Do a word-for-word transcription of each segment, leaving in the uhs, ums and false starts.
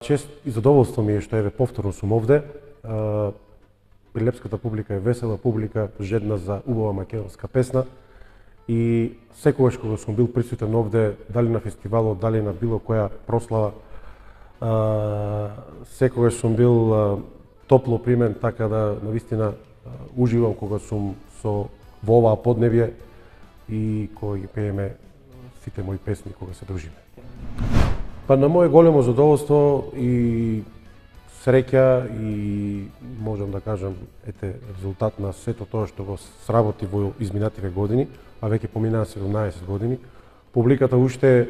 Чест и задоволство ми е што еве повторно сум овде. Прилепската публика е весела публика, жедна за убава македонска песна. И секогаш кога сум бил присутен овде, дали на фестивалот, дали на било која прослава, секогаш сум бил топло примен, така да навистина уживам кога сум со во оваа подневје и кога ги пееме сите мои песни кога се дружиме. Па на моје големо задоволство и среќа и можам да кажам ете резултат на сето тоа што го сработи во изминативе години, а веќе поминаа седумнаесет години. Публиката уште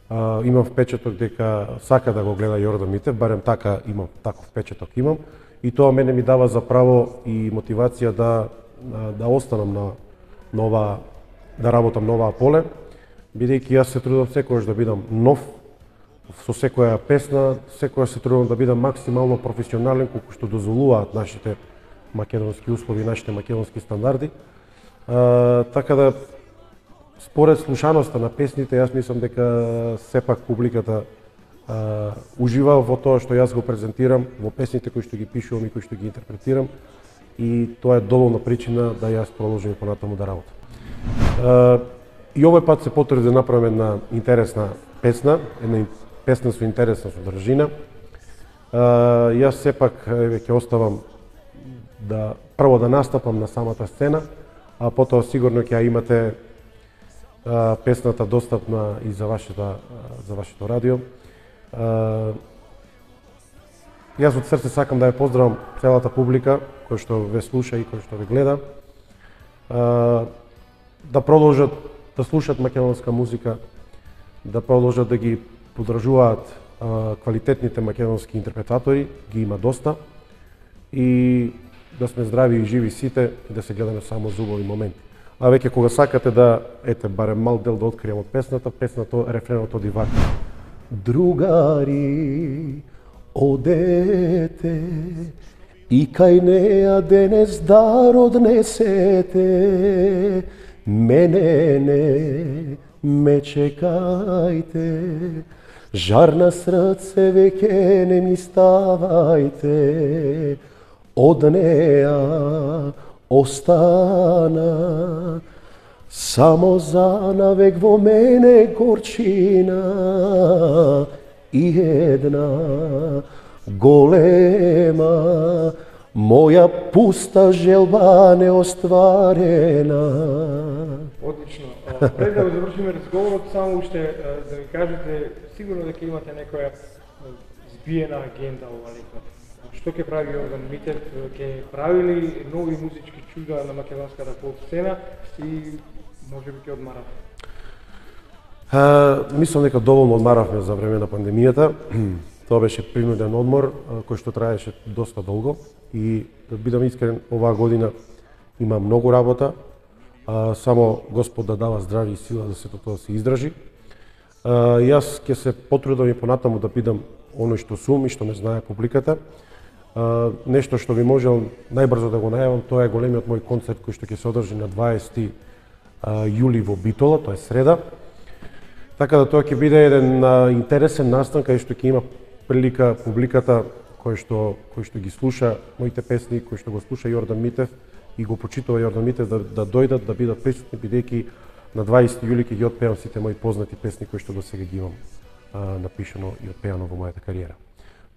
а, имам впечаток дека сака да го гледа Јордан Митев, барем така имам, таков впечаток имам, и тоа мене ми дава за право и мотивација да да останам на нова да работам на оваа поле, бидејќи јас се трудам секогаш да бидам нов со секоја песна, секогаш се трудам да бидам максимално професионален колку што дозволуваат нашите македонски услови, нашите македонски стандарди. А, така да според слушаноста на песните, јас мислам дека сепак публиката а, ужива во тоа што јас го презентирам, во песните кои што ги пишувам и кои што ги интерпретирам, и тоа е доволна причина да јас продолжам понатаму да работам. А, и овој пат се потруди да направам една интересна песна, една песна со интересна содржина. А, јас сепак еве ќе оставам да прво да настапам на самата сцена, а потоа сигурно ќе ја имате а, песната достапна и за вашето за вашето радио. А, јас од срце сакам да ја поздравам целата публика која што ве слуша и која што ве гледа. А, да продолжат да слушат македонска музика, да продолжат да ги поддржуваат а, квалитетните македонски интерпретатори, ги има доста, и да сме здрави и живи сите и да се гледаме само за убави моменти. А веќе кога сакате да ете барем мал дел да открием од песната, песната рефренот оди вака. Другари, одете и кај неа денес дар однесете, мене не ме чекајте, жар на срце веќе не ми ставајте, од неа остана само за навек во мене горчина и една голема моја пуста желба неостварена. Одлично. Пред да завршиме разговорот, само уште да ми кажете, сигурно дека имате некоја збиена агенда ова лето. Што ќе прави Јордан Митев? Ќе прави ли нови музички чуда на македонската поп сцена и може би ќе одмарате? Uh, мислам дека доволно одмаравме за време на пандемијата. Тоа беше принуден одмор кој што траеше доста долго, и да бидам искрен, оваа година има многу работа, а, само Господ да дава здравје и сила за сето тоа се издржи. А, јас ќе се потрудам и понатаму да бидам оној што сум и што ме знае публиката. А, нешто што би можел најбрзо да го најавам, тоа е големиот мој концерт кој што ќе се одржи на дваесети јули во Битола, тоа е среда. Така да тоа ќе биде еден а, интересен настан кај што ќе има прилика публиката кој што кој што ги слуша моите песни, кој што го слуша Јордан Митев и го почитува Јордан Митев, да, да дојдат, да бидат присутни, бидејќи на дваесети јули ќе ги отпеам сите мои познати песни кои што досега ги имам а, напишано и отпеано во мојата кариера.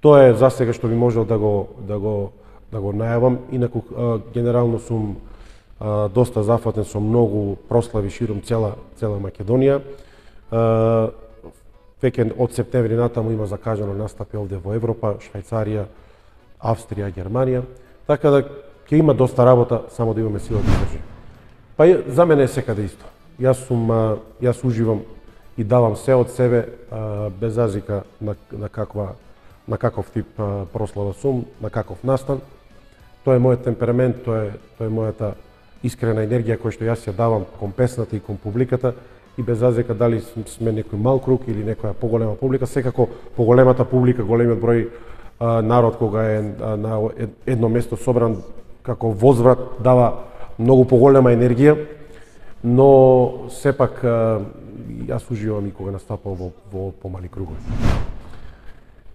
Тоа е за сега што би можел да го да го да го најавам. Инаку а, генерално сум а, доста зафатен со многу прослави широм цела цела Македонија. А, Веќе од септември натаму има закажано настапи овде во Европа, Швајцарија, Австрија, Германија. Така да ќе има доста работа, само да имаме сила да издржи. Па за мене е секаде исто. Јас сум јас уживам и давам се од себе, без разлика на на каква на каков тип прослава сум, на каков настан. Тоа е мојот темперамент, тоа е тоа е мојата искрена енергија која што јас ја давам кон песната и кон публиката. И без разлика дали сме некој мал круг или некоја поголема публика, секако поголемата публика, големиот број а, народ кога е а, на едно место собран како возврат дава многу поголема енергија, но сепак а, јас уживам и кога настапам во, во помали кругови.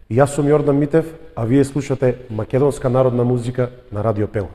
Јас сум Јордан Митев, а вие слушате македонска народна музика на Радио Пела.